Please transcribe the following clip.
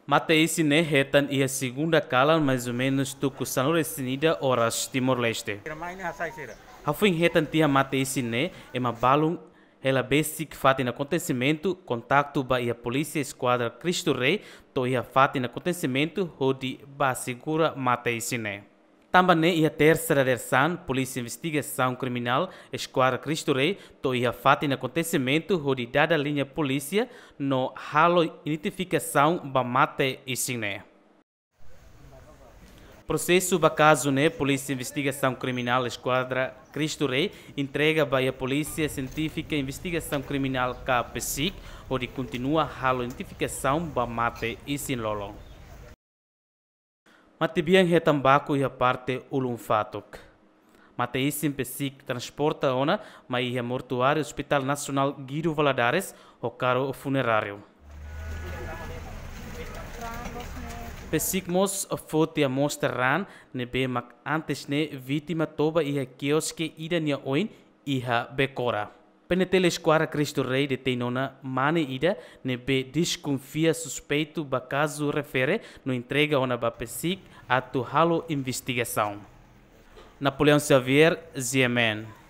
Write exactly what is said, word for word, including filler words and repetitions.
Mate-isin ne'e hetan iha segunda kalan, mais ou menus tuku sanulu-resin-ida oras Timor-Leste. Hafoin hetan tiha mate-isin ne'e, ema balun hela besik fatin akontesimentu, kontaktu ba iha Polísia Eskuadra Cristo Rei to'o iha fatin akontesimentu hodi bá asegura mate-isin ne'e. Tanba ne'e iha tersa dadeer-saan, Polísia Investigasaun Kriminál Eskuadra Cristo Rei to'o iha fatin akontesimentu hodi dada liña polísia no halo identifikasaun ba mate-isin ne'e. Prosesu ba kazu ne'e, Polísia Investigasaun Kriminál Eskuadra Cristo Rei entrega ba iha Polísia Sientífika Investigasaun Kriminál ka PSIK hodi kontinua halo identifikasaun ba mate-isin lolon. Matebian hetan baku iha parte ulun fatuk. Mate-isin PSIK transporta ona mai iha mortuáriu Hospital Nasionál Guido Valadares ho karru funeráriu. PSIK mós foti amostra raan ne'ebé mak antes ne'e vítima toba iha kioske ida nia oin iha Becora. PNTL Eskuadra Cristo Rei detein ona mane ida ne'ebé deskonfia suspeitu ba kazu refere no entrega ona ba PSIK atu halo investigasaun. Napoleão Xavier, GMN.